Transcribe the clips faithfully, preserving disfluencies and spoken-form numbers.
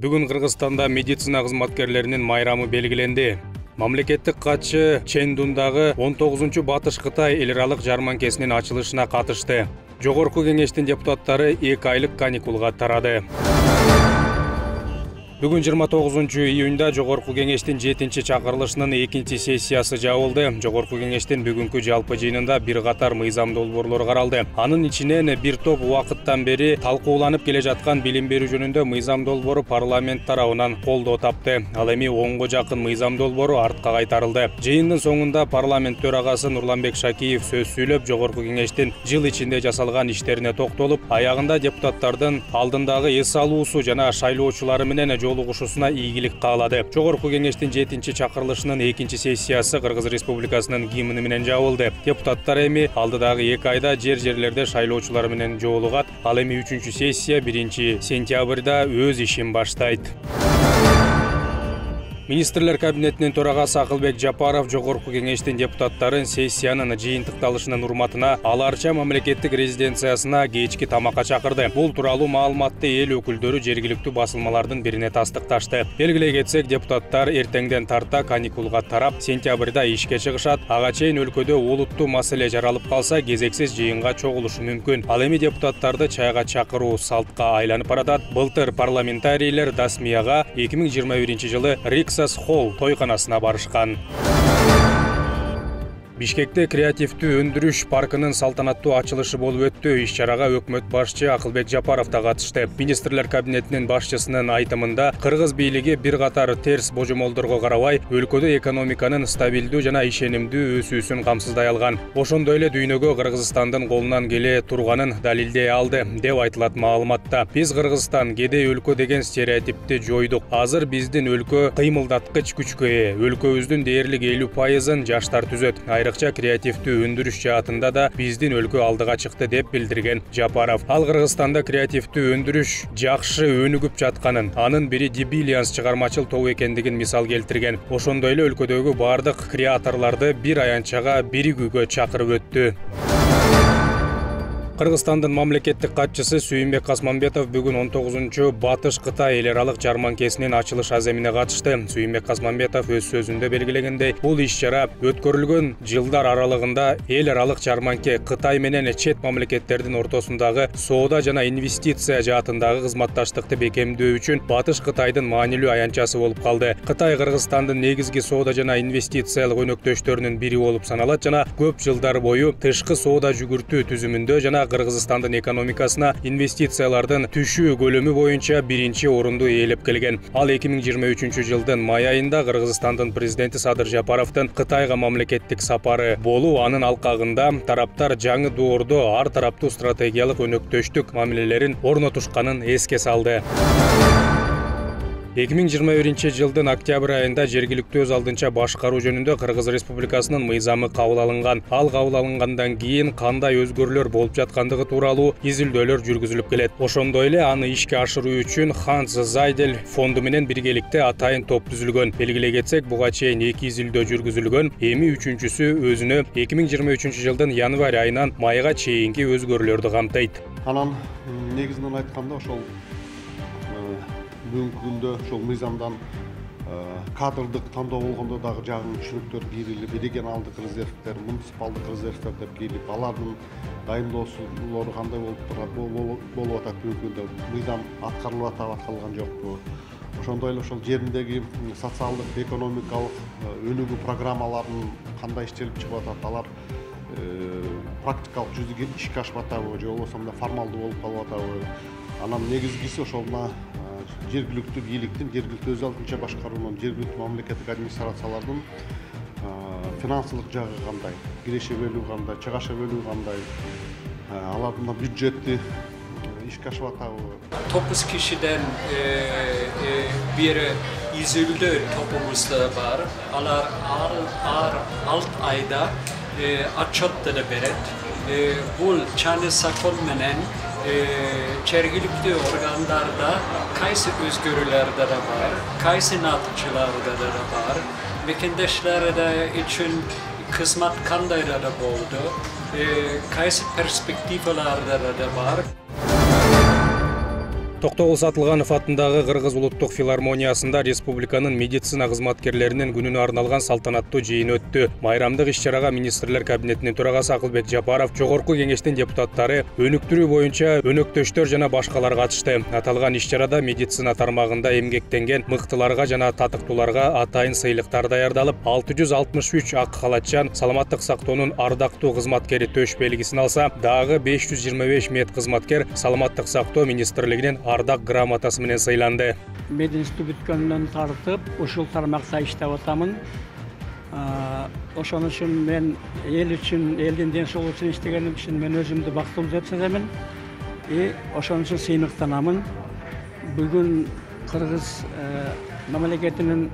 Бүгүн Кыргызстанда медицина кызматкерлеринин майрамы белгиленди. Мамлекеттик катчы Чэндундагы он тогузунчу Батыш Кытай эл аралык жарманкесинин ачылышына катышты. Жогорку кеңештин депутаттары эки айлык каникулга тарады. Бүгүн жыйырма тогузунчу июнда Жогорку кеңештин жетинчи чакырылышынын экинчи сессиясы жабылды. Жогорку кеңештин бүгүнкү жалпы жыйынында бир катар мыйзам долбоорлор каралды. Анын ичинен бир топ убакыттан бери талкууланып келе жаткан билим берүү жөнүндө мыйзам долбоору парламент тарабынан колдоо тапты. Ал эми онго жакын мыйзам долбоору артка кайтарылды. Жыйындын соңунда парламент төрагасы Нурланбек Шакиев сөз сүйлөп, Жогорку кеңештин жыл ичинде жасалган иштерине токтолуп, аягында депутаттардын алдындагы эс алуусу жана шайлоочулары менен жолугушусуна ийгилик каалады. Жогорку кеңештин жетинчи чакырылышынын экинчи сессиясы Кыргыз Республикасынын гимни менен жабылды. Депутаттар эми алдыдагы эки айда жер-жерлерде шайлоочулар менен жолугат. Ал эми үчүнчү сессия биринчи сентябрда өз ишин баштайт. Министрлер кабинетинин төрагасы Акылбек Жапаров Жогорку кеңештин депутаттарын сессиянын жыйынтыкталышынын урматына Аларча мамлекеттик резиденциясына кечки тамакка чакырды. Бул тууралуу маалыматты эл өкүлдөрү жергиликтүү басылмалардын бирине тастыкташты. Белгилей кетсек, депутаттар эртеңден тарта каникулга тарап, сентябрда ишке чыгышат. Ага чейин өлкөдө олуттуу маселе жаралып калса, кезексиз жыйынга чогулушу мүмкүн. Ал эми депутаттарды чайга чакыруу салтка айланып баратат. Былтыр парламентарийлер Дасмияга эки миң жыйырма биринчи жылы Рикс Холл тойканасына барышкан. Бишкекте креативдүү өндүрүш паркынын салтанаттуу ачылышы болуп өттү. Иш-чарага өкмөт башчы Акылбек Жапаров да катышты. Министрлер кабинетинин башчысынын айтымында, Кыргыз бийлиги бир катар терс божомолдорго карабай, өлкөдө экономиканын стабилдүү жана ишенимдүү өсүүсүн камсыздай алган. Ошондой эле дүйнөгө Кыргызстандын колунан келе турганын далилдей алды, деп айтылат маалыматта. Биз Кыргызстан кедей өлкө деген стереотипти жойдук. Азыр биздин өлкө кыймылдаткыч күчкө ээ. Өлкөбүздүн дээрлик элүү пайызын жаштар түзөт. Айрыкча креативдүү өндүрүш жаатында да биздин өлкө алдыга чыкты, деп билдирген Жапаров. Ал Кыргызстанда креативдүү өндүрүш жакшы өнүгүп жатканын, анын бири Дибилианс чыгармачыл тобу экендигин мисал келтирген. Ошондой эле өлкөдөгү бардык креаторлорду бир аянтчага биригүүгө чакырып өттү. Кыргызстандын мамлекеттик катчысы Сүйүнбек Касмамбетов бүгүн он тогузунчу Батыш Кытай эл аралык жарманкесинин ачылыш аземине катышты. Сүйүнбек Касмамбетов өз сөзүндө белгилегендей, бул иш-чара өткөрүлгөн жылдар аралыгында эл аралык жарманке Кытай менен чет мамлекеттердин ортосундагы соода жана инвестиция жаатындагы кызматташтыкты бекемдөө үчүн Батыш Кытайдын маанилүү аянтчасы болуп калды. Кытай Кыргызстандын негизги соода жана инвестициялык өнөктөштөрүнүн бири болуп саналат жана көп жылдар бою тышкы соода жүгүртүү түзүмүндө жана Кыргызстандын экономикасына инвестициялардын түшүү көлөмү боюнча биринчи орунду ээлеп келген. Ал эки миң жыйырма үчүнчү жылдын май айында Кыргызстандын президенти Садыр Жапаровдун Кытайга мамлекеттик сапары болуп, анын алкагында тараптар жаңы доордо ар тараптуу стратегиялык өнөктөштүк мамилелерин орнотушканын эске салды. эки миң жыйырма биринчи жылдын октябрь айында жергиликтүү өз алдынча башкаруу жөнүндө Кыргыз Республикасынын мыйзамы кабыл алынган. Ал кабыл алынгандан кийин кандай өзгөрүүлөр болуп жаткандыгы тууралуу изилдөөлөр жүргүзүлүп келет. Ошондой эле аны ишке ашыруу үчүн Ханс Зайдель фонду менен биргеликте атайын топ түзүлгөн. Белгилей кетсек, буга чейин эки изилдөө жүргүзүлгөн. Эми үчүнчүсү өзүнө эки миң жыйырма үчүнчү жылдын январь айынан майга чейинки өзгөрүүлөрдү камтыйт. Анан негизинен айтканда ошол бүгүнкү күндө ошол мыйзамдан кадрдык тандоо болгондо дагы жаңы түшүнүктөр кийилип, регионалдык резервдер, муниципалдык резервдер деп кийилип, алардын дайындоосулары кандай болуп болуп атат, бүгүнкү күндө мыйзам аткарылып атабы, аткарылган жокпу. Ошондой эле ошол жериндеги социалдык, экономикалык өнүгүү программаларын кандай иштелип чыгып атат, алар практикалык жүзүгө ишке ашып атабы, же болбосо мына формалдуу болуп калып атабы. Анан негизгиси ошол мына жергиликтүү бийликтин, жергиликтүү өз алдынча башкаруунун, жергиликтүү мамлекеттик администрациялардын финансылык жагы кандай, киреше бөлүү кандай, чыгаша бөлүү кандай, алардын бюджетти ишке ашып атабы. Тогуз кишиден бери изилдөө тобумузда бар. Алар ар алты айда отчеттер берет. Бул чаны закон менен жергиликтүү органдарда кайсы өзгөрүүлөрдөр да бар, кайсы натыйжаларда да бар, мекендештер үчүн кызмат кандай да болду, кайсы перспективаларда да бар. Токтогул Сатылганов атындагы Кыргыз улуттук филармониясында республиканын медицина кызматкерлеринин күнүнө арналган салтанаттуу жыйын өттү. Майрамдык иш-чарага министрлер кабинетинин төрагасы Акылбек Жапаров, жогорку кеңештин депутаттары, өнүктүрүү боюнча өнөктөштөр жана башкалар катышты. Аталган иш-чарада медицина тармагында эмгектенген мыктыларга жана татыктууларга атайын сыйлыктар даярдалып, алты жүз алтымыш үч ак халатчан саламаттык сактоонун ардактуу кызматкери төш белгисин алса, дагы беш жүз жыйырма беш мед кызматкер саламаттык сактоо министрлигинин ардак грамотасы менен сыйланды. Мен институт бүткөндөн тартып ушул тармакта иштеп атамын. Ошон үчүн мен эл үчүн, элдин ден соолугу үчүн иштегеним үчүн мен өзүмдү бактылуу деп сеземин. И ошон үчүн сыймыктанамын. Бүгүн Кыргыз мамлекетинин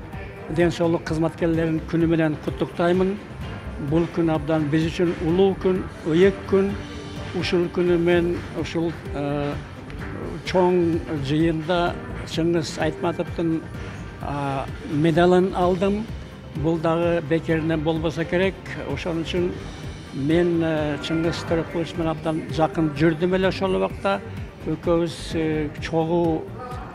ден соолук кызматкерлерин күнү менен куттуктаймын. Бул күн абдан биз үчүн улуу күн, ыйык күн. Ушул күнү мен ушул чоң жыйында Чыңгыз Айтматовдун медалын алдым. Бул дагы бекеринен болбосо керек. Ошон үчүн мен Чыңгыз Төрөкулович менен абдан жакын жүрдүм эле ошол убакта. Экөөбүз чогуу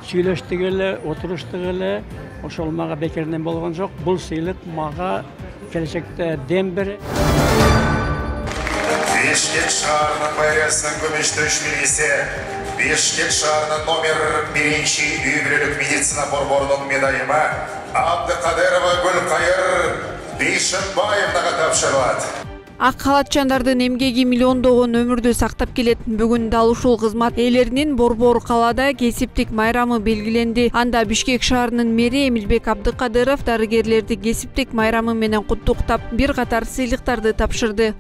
сүйлөштүк эле, отуруштук эле. Ошол мага бекеринен болгон жок. Бул сыйлык мага келечекте дем берет. Бишкек шаарынын мэриясынын күмүш төш белгиси, Бишкек шаарынын номер биринчи үй бүлөлүк медицина борборунун медайымы Абдыкадырова Гүлкайыр Бейшимбаевнага тапшырылат. Ак халатчандардын эмгеги миллиондогон өмүрдү сактап келет. Бүгүн дал ушул кызмат ээлеринин Борбор калаада кесиптик майрамы белгиленди. Анда Бишкек шаарынын мэри Эмилбек Абдыкадыров дарыгерлерди кесиптик майрамы менен куттуктап, бир катар сыйлыктарды тапшырды.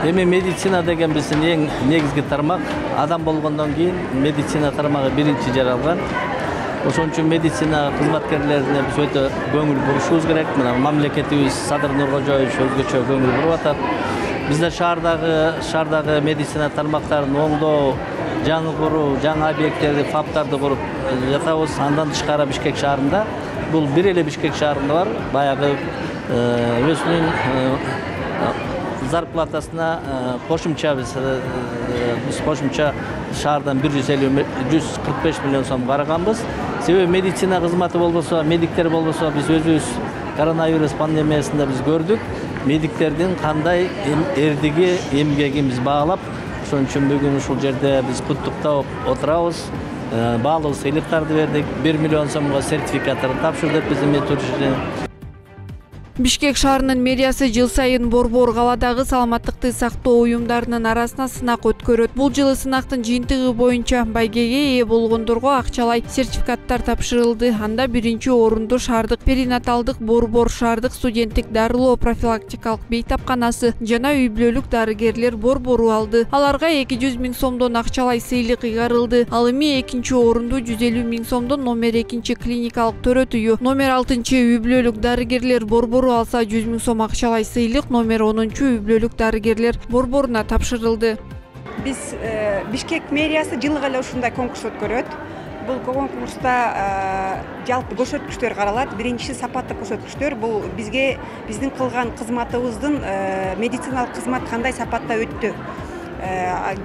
Эми медицина деген биздин эң негизги тармак. Адам болгондон кийин медицина тармагы биринчи жаралган. Ошон үчүн медицина кызматкерлерине биз өтө көңүл бурушубуз керек. Мына мамлекетибиз Садыр Нуркожоевич өзгөчө көңүл буруп атат. Бизде шаардагы шаардагы медицина тармактарын оңдоо, жаңы куруу, жаңы объекттерди, фаптарды куруп жатабыз. Андан тышкары Бишкек шаарында, бул бир эле Бишкек шаарында бар, баягы өзүнүн зарплатасына кошумча биз биз кошумча шаардан бир жүз элүү жүз кырк беш миллион сом караганбыз. Себеби медицина кызматы болбосо, медиктер болбосо биз өзүбүз коронавирус пандемиясында биз көрдүк. Медиктердин кандай эрдиги, эмгегин биз баалап, ошон үчүн бүгүн ушул жерде биз куттуктап отурабыз. Баалуу сыйлыктарды бердик. бир миллион сомго сертификаттарды тапшырдык биздин медучилище. Бишкек шаарынын мэриясы жыл сайын Борбор калаадагы саламаттыкты сактоо уюмдарынын арасына сынак өткөрөт. Бул жылы сынактын жыйынтыгы боюнча байгеге ээ болгондорго акчалай сертификаттар тапшырылды. Анда биринчи орунду шаардык перинаталдык Борбор шаардык студенттик дарылоо профилактикалык бейтапканасы жана үй бүлөлүк дарыгерлер Борбору алды. Аларга эки жүз миң сомдон акчалай сыйлык ыйгарылды. Ал эми экинчи орунду жүз элүү миң сомдон номер экинчи клиникалык төрөт үйү, номер алтынчы үй бүлөлүк дарыгерлер Борбору алса жүз миң сом акчалай сыйлык номер онунчу үй бүлөлүк дарыгерлер Борборуна тапшырылды. Биз Бишкек мэриясы жылга эле ушундай конкурс өткөрөт. Бул конкурста жалпы көрсөткүчтөр каралат. Биринчиси сапаттык көрсөткүчтөр. Бул бизге биздин кылган кызматыбыздын медициналык кызмат кандай сапатта өттү,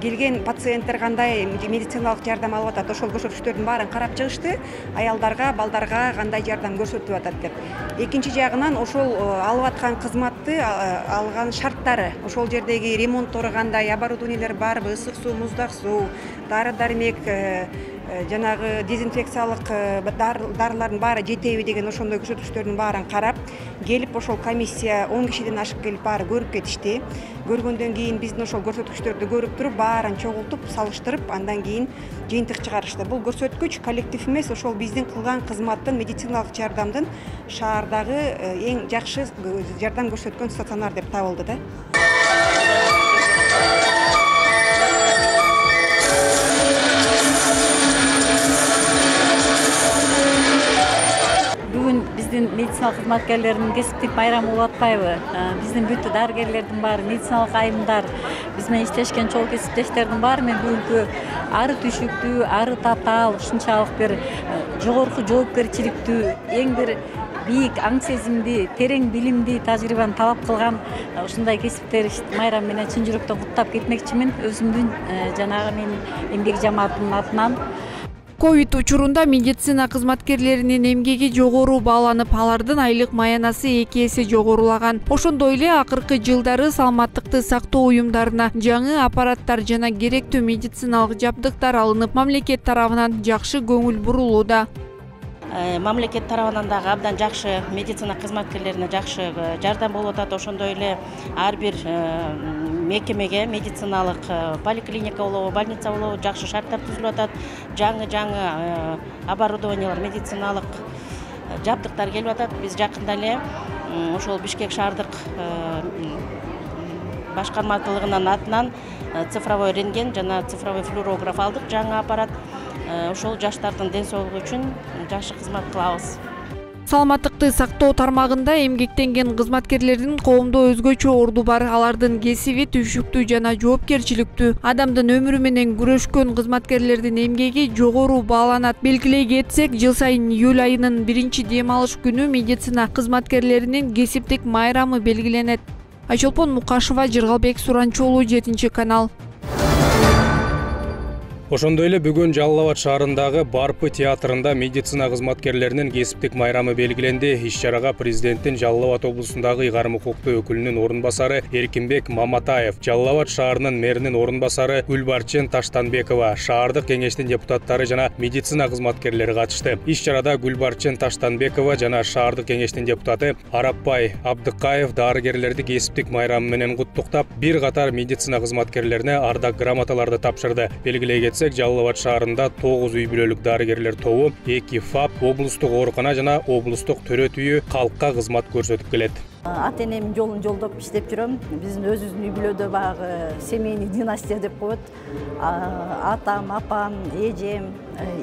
келген пациенттер кандай медициналык жардам алып атат, ошол көрсөткүчтөрдүн баарын карап чыгышты. Аялдарга, балдарга кандай жардам көрсөтүп атат деп. Экинчи жагынан ошол алып аткан кызматты алган шарттары, ошол жердеги ремонттору кандай, оборудованиелер барбы, ысык суу, муздак суу, дары-дармек, жанагы дезинфекциялык дарылардын баары жетеби деген ошондой көрсөткүчтөрдүн баарын карап, келип ошол комиссия он кишиден ашык келип баары көрүп кетишти. Көргөндөн кийин биздин ошол көрсөткүчтөрдү көрүп туруп, баарын чогултуп, салыштырып, андан кийин жыйынтык чыгарышты. Бул көрсөткүч коллектив эмес, ошол биздин кылган кызматтын, медициналык жардамдын шаардагы эң жакшы жардам көрсөткөн стационар деп табылды да. Биздин медициналык кызматкерлердин кесиптик майрамы болуп атпайбы? Биздин бүт дарыгерлердин баары, медициналык айымдар, биз менен иштешкен чогуу кесиптештердин баары мен бүгүнкү ары түшүктүү, ары татаал, ушунчалык бир жогорку жоопкерчиликтүү, эң бир бийик аң сезимди, терең билимди, тажрыйбаны талап кылган ушундай кесиптер майрам менен чын жүрөктөн куттап кетмекчимин өзүмдүн жанагы менин эмгек жамаатымдын атынан. ковид учурунда медицина кызматкерлеринин эмгеги жогору бааланып, алардын айлык маянасы эки эсе жогорулаган. Ошондой эле акыркы жылдары саламаттыкты сактоо уюмдарына жаңы аппараттар жана керектүү медициналык жабдыктар алынып, мамлекет тарабынан жакшы көңүл бурулууда. Мамлекет тарабынан дагы абдан жакшы медицина кызматкерлерине жакшы жардам болуп атат. Ошондой эле ар бир мекемеге медициналык поликлиника болобу, больница болобу жакшы шарттар түзүлүп атат. Жаңы-жаңы оборудованиялар, медициналык жабдыктар келип атат. Биз жакында эле ошол Бишкек шаардык башкармачылыгынын атынан цифровой рентген жана цифровой флюорограф алдык, жаңы аппарат. Ошол жаштардын ден соолугу үчүн жакшы кызмат кылабыз. Саламаттыкты сактоо тармагында эмгектенген кызматкерлердин коомдо өзгөчө орду бар. Алардын кесиби түйшүктүү жана жоопкерчиликтүү. Адамдын өмүрү менен күрөшкөн кызматкерлердин эмгеги жогору бааланат. Белгилей кетсек, жыл сайын июль айынын биринчи дем алыш күнү медицина кызматкерлеринин кесиптик майрамы белгиленет. Айчолпон Мукашева, Жыргалбек Суранчоолу, жетинчи канал. Ошондой эле бүгүн Жалал Абад шаарындагы Барпы театрында медицина кызматкерлеринин кесиптик майрамы белгиленди. Иш-чарага президенттин Жалал Абад облусундагы ыйгарым укуктуу өкүлүнүн орун басары Эркинбек Маматаев, Жалал Абад шаарынын мэринин орун басары Гүлбарчын Таштанбекова, шаардык кеңештин депутаттары жана медицина кызматкерлери катышты. Иш-чарада Гүлбарчын Таштанбекова жана шаардык кеңештин депутаты Арапбай Абдыкаев дарыгерлерди кесиптик майрамы менен куттуктап, бир катар медицина кызматкерлерине ардак грамоталарды тапшырды. Белгилей кетсек, Жалал Абад шаарында тогуз үй бүлөлүк дарыгерлер тобу, эки ФАП, облустук оорукана жана облустук төрөт үйү калкка кызмат көрсөтүп келет. Ата-энемдин жолун жолдоп иштеп жүрөм. Биздин өзүбүздүн үй бүлөдө багы семейный династия деп коет. Атам, апам, эжем,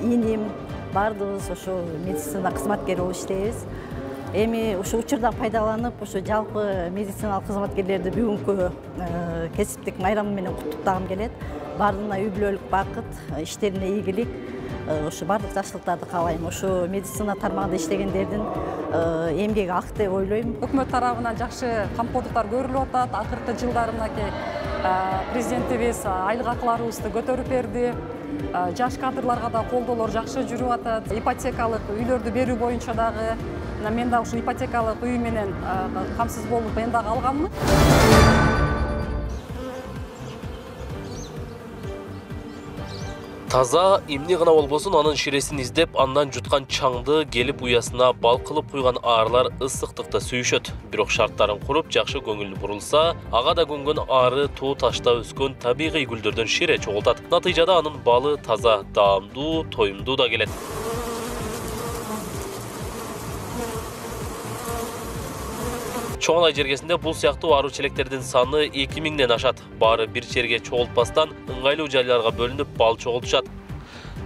иним бардыгыбыз ошо медицина кызматкери болуп иштейбиз. Эми ошо учурдан пайдаланып, ошо жалпы медициналык кызматкерлерди бүгүнкү кесиптик майрамы менен куттуктагым келет. Бардыгына үй бүлөлүк бакыт, иштерине ийгилик, ошо бардык жакшылыктарды каалайм. Ошо медицина тармагында иштегендердин эмгеги ак деп ойлойм. Өкмөт тарабынан жакшы камкордуктар көрүлүп атат. Акыркы жылдары мынакей президентибиз айлык акыларыбызды көтөрүп берди. Жаш кадрларга да колдоолор жакшы жүрүп атат. Ипотекалык үйлөрдү берүү боюнча дагы мен дагы ушу ипотекалык үй менен камсыз болуп мен дагы алганмын. Таза эмне гана болбосун анын ширесин издеп, андан жуткан чаңды келип уясына бал кылып куйган аарылар ысыктыкта сүйүшөт. Бирок шарттарын куруп, жакшы көңүл бурулса, ага да көнгөн ары тоо ташта өскөн табигый гүлдөрдөн шире чогултат. Натыйжада анын балы таза, даамдуу, тоюмдуу да келет. Чоңалай жергесинде бул сыяктуу ару челектердин саны эки миңден ашат. Баары бир жерге чогултпастан ыңгайлуу жайларга бөлүнүп бал чогултушат.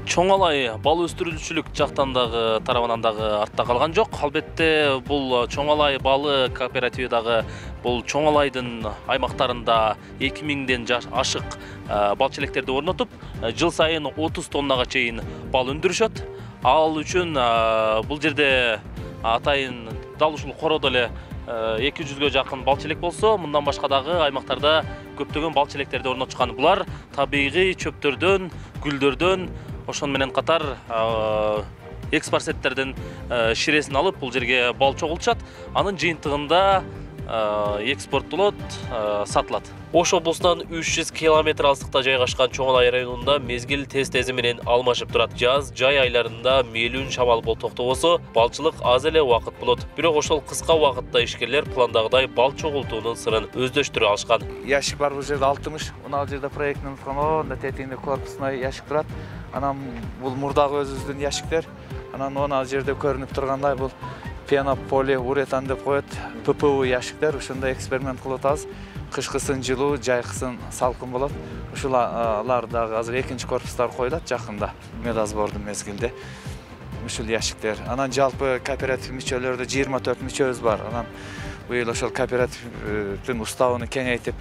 Чоңалай бал өстүрүүчүлүк жактан дагы тарабынан дагы артта калган жок. Албетте бул Чоңалай балы кооперативи дагы бул Чоңалайдын аймактарында эки миңден ашык бал челектерди орнотуп, жыл сайын отуз тоннага чейин бал өндүрүшөт. Ал үчүн бул жерде атайын дал ушул короодо эле эки жүзгө жакын бал челек болсо, мындан башка дагы аймактарда көптөгөн бал челектерди орнотушкан. Булар табигый чөптөрдөн, гүлдөрдөн, ошон менен катар экспорсеттердин ширесин алып бул жерге бал чогултушат. Анын жыйынтыгында экспорттолот, сатылат. Ош облусунан үч жүз километр алыстыкта жайгашкан Чоңалай районунда мезгил тез-тези менен алмашып турат. Жаз, жай айларында мээлүүн шамал бол токтобосо, балчылык аз эле убакыт болот. Бирок ошол кыска убакытта ишкерлер пландагыдай бал чогултуунун сырын өздөштүрө алышкан. Яшик бар бул жерде алтымыш, мына жерде проектин фондо тетигинде корпусной яшик турат. Анан бул мурдагы өзүбүздүн яшиктер. Анан мына жерде көрүнүп тургандай бул пенополи уретан деп коет. П П У яшиктер, ушундай эксперимент кылып атабыз. Кышкысын жылуу, жайкысын салкын болот. Ушулар дагы азыр экинчи корпустар коюлат жакында. Медосбордун мезгилде. Ушул яшиктер. Анан жалпы кооператив мүчөлөрдө жыйырма төрт мүчөбүз бар. Анан быйыл ошол кооперативдин уставын кеңейтип,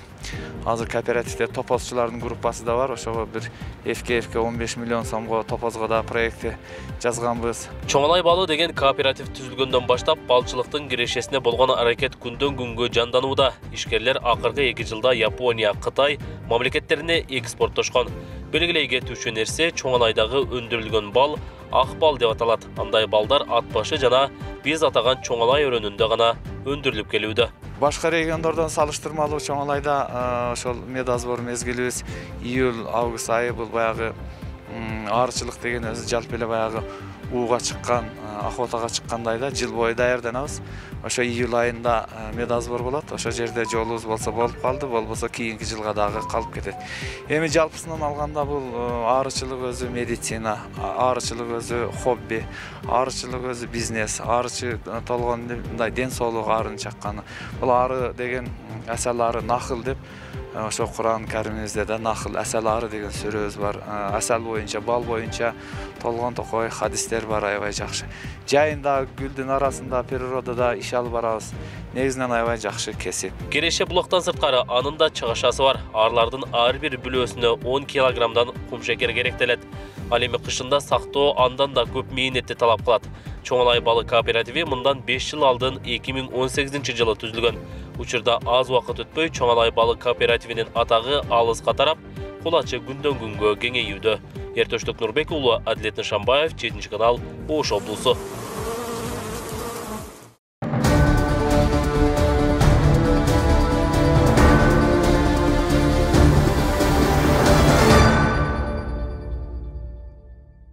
азыр кооперативде топозчулардын группасы да бар. Ошого бир эфке-эфке он беш миллион сомго топозго да проекти жазганбыз. Чоңалай балы деген кооператив түзүлгөндөн баштап балчылыктын кирешесине болгон аракет күндөн күнгө жанданууда. Ишкерлер акыркы эки жылда Япония, Кытай мамлекеттерине экспорттошкон. Белгилей кетүүчү нерсе Чоңалайдагы өндүрүлгөн бал ак бал деп аталат. Андай балдар ат башы жана биз атаган Чоңалай өрөөнүндө гана өндүрүлүп келүүдө. Башка региондордон салыштырмалуу Чоңалайда ошол медозбор мезгилибиз июль август айы бул баягы аарчылык деген өзү жалпы эле баягы ууга чыккан, охотага чыккандай да жыл бою даярданабыз. Ошо июль айында медозбор болот. Ошо жерде жолубуз болсо болуп калды, болбосо кийинки жылга дагы калып кетет. Эми жалпысынан алганда бул аарчылык өзү медицина, аарчылык өзү хобби, аарчылык өзү бизнес, аарчы толгон мындай ден соолук аарын чакканы. Бул ары деген асал ары нахыл деп ошо Куран Каримибизде да нахыл асал ары деген сүрөбүз бар. Асал боюнча, бал боюнча толгон токой хадистер бар аябай жакшы. Жайында, гүлдүн арасында, природада иш алып барабыз. Негизинен аябай жакшы кесип. Кереше булактан сырткары анын да чыгышасы бар. Арлардын ар бир бүлөөсүнө он килограммдан кумшекер керектелет. Ал эми кышында сактоо андан да көп мээнетти талап кылат. Чоңалай балы кооперативи мындан беш жыл алдын эки миң он сегизинчи жылы түзүлгөн. Учурда аз убакыт өтпөй Чоңалай балы кооперативинин атагы алыска тарап, кулачы күндөн күнгө кеңейүүдө. Эртөштүк Нурбек уулу, Адилет Нышанбаев, жетинчи канал, Ош облусу.